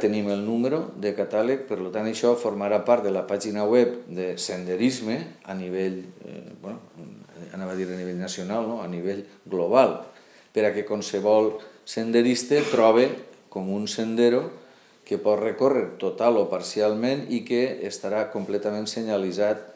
Tenim el número de catàleg, per tant això formarà part de la pàgina web de senderisme a nivell, anava a dir a nivell nacional, no? A nivell global, per a que qualsevol senderista trobe com un sendero que pot recórrer total o parcialment i que estarà completament senyalitzat